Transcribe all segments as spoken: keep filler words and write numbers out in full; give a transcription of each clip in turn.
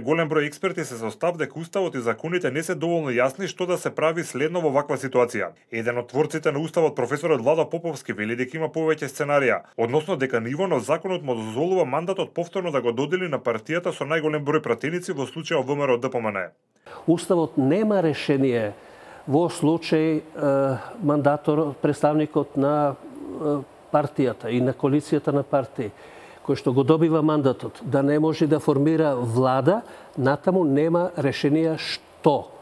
Голем број експерти се со став дека уставот и законите не се доволно јасни што да се прави следно во ваква ситуација. Еден од творците на уставот, професорот Владо Поповски, вели дека има повеќе сценарија, односно дека ниво на законот му дозволува мандатот повторно да го додели на партијата со најголем број пратеници, во случајот ВМРО Д П М Н. Уставот нема решение во случај е, мандатор, представникот на е, партијата и на коалицијата на партии, кој што го добива мандатот, да не може да формира влада, натаму нема решение што.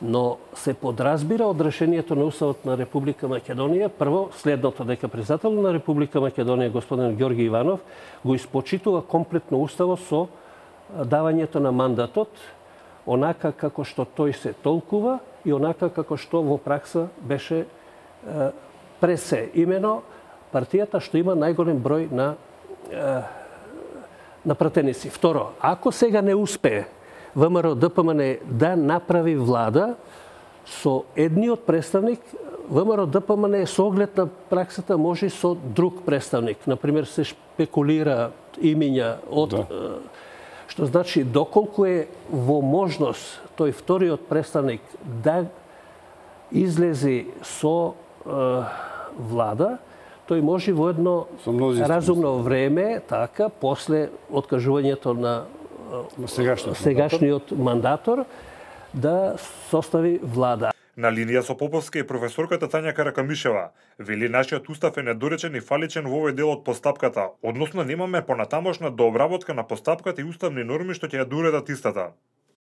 Но се подразбира од решението на Уставот на Република Македонија, прво следното, дека председателот на Република Македонија, господин Ѓорги Иванов, го испочитува комплетно Уставот со давањето на мандатот, онака како што тој се толкува и онака како што во пракса беше е, пресе. Имено партијата што има најголем број на на пратеници. Второ, ако сега не успее ВМРО Д П М Н да направи влада со едниот представник, ВМРО Д П М Н со оглед на праксата може со друг представник. Например, се шпекулира имиња од да. Што значи доколку е во можност тој вториот представник да излези со е, влада, тој може во едно разумно време, така, после откажувањето на сегашниот, сегашниот мандатор, да состави влада. На линија со Поповски е професорката Тања Каракамишева. Вели нашиот устав е недоречен и фаличен во овој дел од постапката, односно немаме понатамошна дообработка на постапката и уставни норми што ќе ја доуредат истата.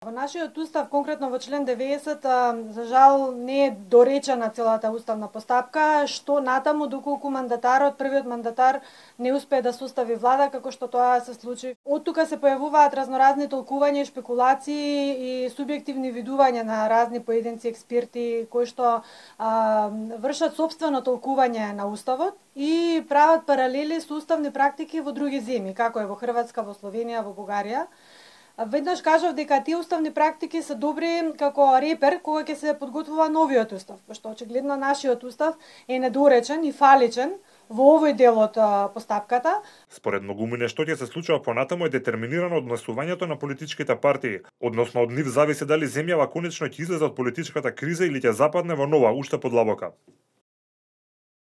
Во нашиот устав, конкретно во член деветдесет, за жал не е доречена целата уставна постапка, што натаму доколку мандатарот, првиот мандатар, не успее да состави влада, како што тоа се случи. Од тука се појавуваат разноразни толкувања, шпекулации и субјективни видувања на разни поединци експерти кои што а, вршат собствено толкување на уставот и прават паралели со уставни практики во други земји, како е во Хрватска, во Словенија, во Бугарија. Веднаш кажав дека тие уставни практики се добри како репер кога ќе се подготвува новиот устав, пошто очигледно нашиот устав е недоречен и фаличен во овој дел од постапката. Според многумине што ќе се случува понатаму е детерминирано однесувањето на политичките партии, односно од нив зависи дали земјава конечно ќе излезе од политичката криза или ќе западне во нова, уште подлабока.